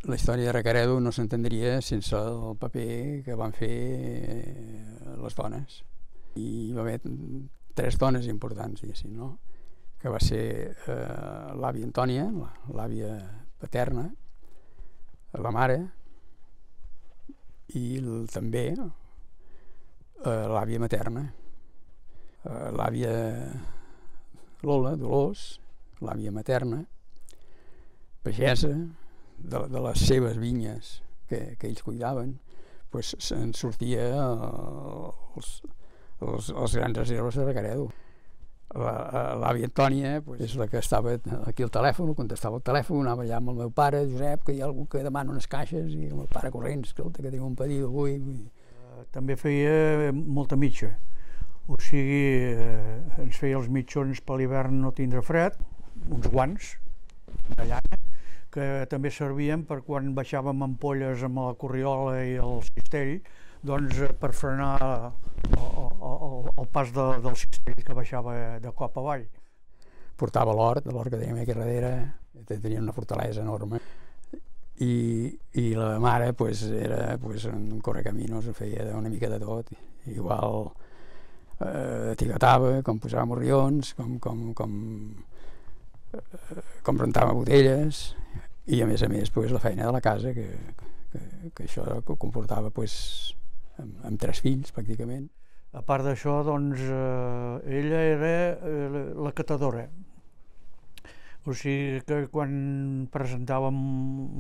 La història de Recaredo no s'entendria sense el paper que van fer les dones. I hi va haver 3 dones importants, diguéssim, no? Que va ser l'àvia Antònia, l'àvia paterna, la mare, i també l'àvia materna, l'àvia Lola, Dolors, l'àvia materna, pagesa, de les seves vinyes que ells cuidaven, doncs se'n sortia els grans reserves de Recaredo. L'àvia Antònia és la que estava aquí al telèfon, contestava el telèfon, anava allà amb el meu pare, Josep, que hi ha algú que demana unes caixes, i el meu pare corrents, escolta, que tinc un pedido avui. També feia molta mitja, o sigui, ens feia els mitjons per l'hivern no tindre fred, uns guants de llana, que també servien per quan baixàvem ampolles amb la corriola i el cistell, doncs per frenar el pas del cistell que baixava de cop avall. Portava l'hort que teníem aquí darrere, tenia una fortalesa enorme, i la mare era un correcaminos, feia una mica de tot, igual etiquetava, com posava morrions, com rentava botelles, i a més la feina de la casa, que això comportava amb 3 fills pràcticament. A part d'això, doncs, ella era la catadora. O sigui que quan presentàvem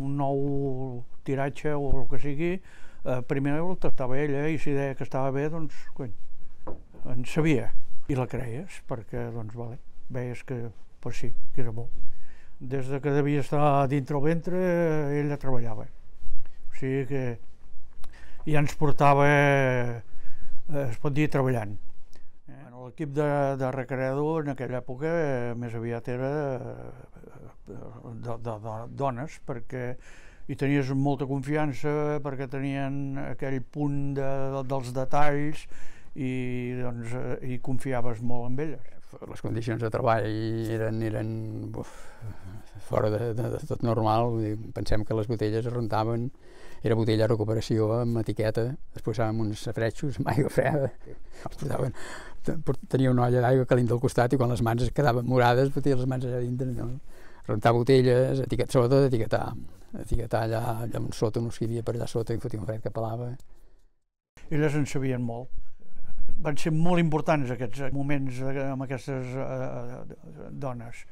un nou tiratge o el que sigui, primer el tastava ella, i si deia que estava bé, doncs, en sabia. I la creies, perquè, doncs, veies que, sí, que era bo. Des que devia estar dintre el ventre, ella treballava. O sigui que ja ens portava, es pot dir, treballant. L'equip de Recaredo en aquella època més aviat era de dones, perquè hi tenies molta confiança, perquè tenien aquell punt dels detalls i confiaves molt en elles. Les condicions de treball eren fora de tot normal. Pensem que les botelles es rentaven, era botella de recuperació amb etiqueta, es posaven uns safretxos amb aigua freda, tenia una olla d'aigua calenta al costat, i quan les mans es quedaven morades fotia les mans allà dintre. Rentar botelles, sobretot etiquetar allà sota, no hi havia per allà sota, i fotia un fred que pelava. Elles en sabien molt. Van ser molt importants aquests moments amb aquestes dones.